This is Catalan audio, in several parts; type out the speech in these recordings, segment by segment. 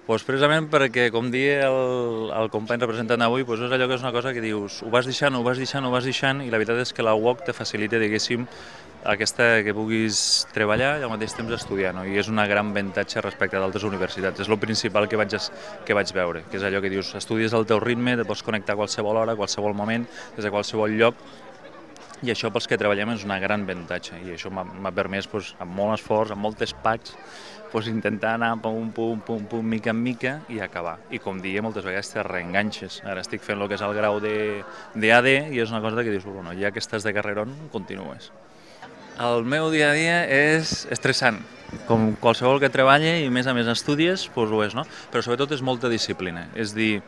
Pues precisament perquè, com deia el company representant avui, doncs és allò que és una cosa que dius, ho vas deixant, ho vas deixant, ho vas deixant, i la veritat és que la UOC te facilita, diguéssim, que puguis treballar i al mateix temps estudiar, no? I és una gran avantatge respecte d'altres universitats. És el principal que vaig veure, que és allò que dius, estudies al teu ritme, te pots connectar a qualsevol hora, a qualsevol moment, des de qualsevol lloc, i això pels que treballem és una gran avantatge, i això m'ha permès, amb molt esforç, amb moltes pacs, intentar anar pum, pum, pum, pum, mica en mica i acabar. I com deia, moltes vegades te reenganxes. Ara estic fent el que és el grau d'AD i és una cosa que dius, bueno, ja que estàs de carrerón, continues. El meu dia a dia és estressant, com qualsevol que treballa i a més estudies, doncs ho és, no? Però sobretot és molta disciplina, és dir,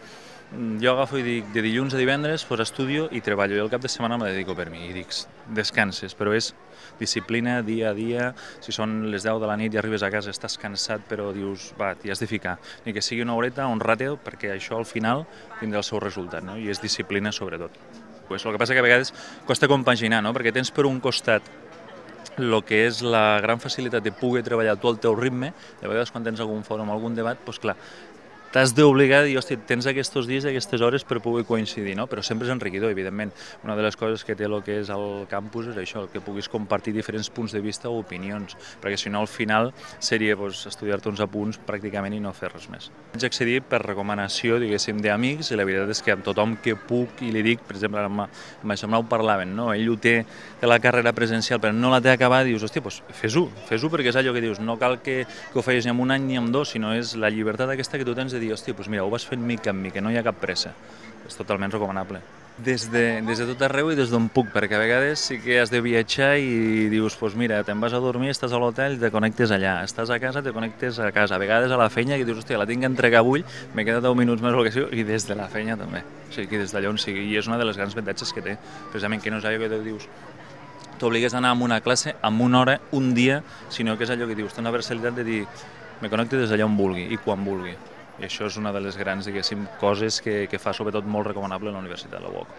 jo agafo i dic, de dilluns a divendres doncs estudio i treballo, i el cap de setmana me dedico per mi, i dic, descanses, però és disciplina dia a dia. Si són les 10 de la nit i arribes a casa estàs cansat, però dius, va, t'hi has de ficar, ni que sigui una horeta, un ràteo, perquè això al final tindrà el seu resultat, no? I és disciplina sobretot. Pues el que passa que a vegades costa compaginar, no? Perquè tens per un costat el que és la gran facilitat de poder treballar tu al teu ritme. De vegades quan tens algun fòrum, algun debat, doncs clar, t'has d'obligar a dir, hòstia, tens aquests dies i aquestes hores per poder coincidir, no? Però sempre és enriquidor, evidentment. Una de les coses que té el que és el campus és això, que puguis compartir diferents punts de vista o opinions, perquè si no al final seria estudiar-te uns apunts pràcticament i no fer res més. Vaig accedir per recomanació, diguéssim, d'amics, i la veritat és que amb tothom que puc i li dic, per exemple, amb això ho parlaven, no? Ell ho té la carrera presencial però no la té acabada, dius, hòstia, doncs fes-ho perquè és allò que dius, no cal que ho facis ni en un any ni en dos, sinó és la llibertat aquesta que tu tens de dir, hòstia, doncs mira, ho vas fent mica en mica, no hi ha cap pressa. És totalment recomanable. Des de tot arreu i des d'on puc, perquè a vegades sí que has de viatjar i dius, doncs mira, te'n vas a dormir, estàs a l'hotel, te connectes allà, estàs a casa, te connectes a casa, a vegades a la feina, que dius, hòstia, la tinc que entregar avui, m'he quedat 10 minuts més o el que sigui, i des de la feina també, o sigui, que des d'allà on sigui, i és una de les grans avantatges que té, precisament que no és allò que dius, t'obligues a anar a una classe amb una hora, un dia, sinó que és allò que dius, té una versatilitat de dir, me connecto des d'allà on vulgui i quan vulgui. I això és una de les grans, diguéssim, coses que fa sobretot molt recomanable la Universitat de la UOC.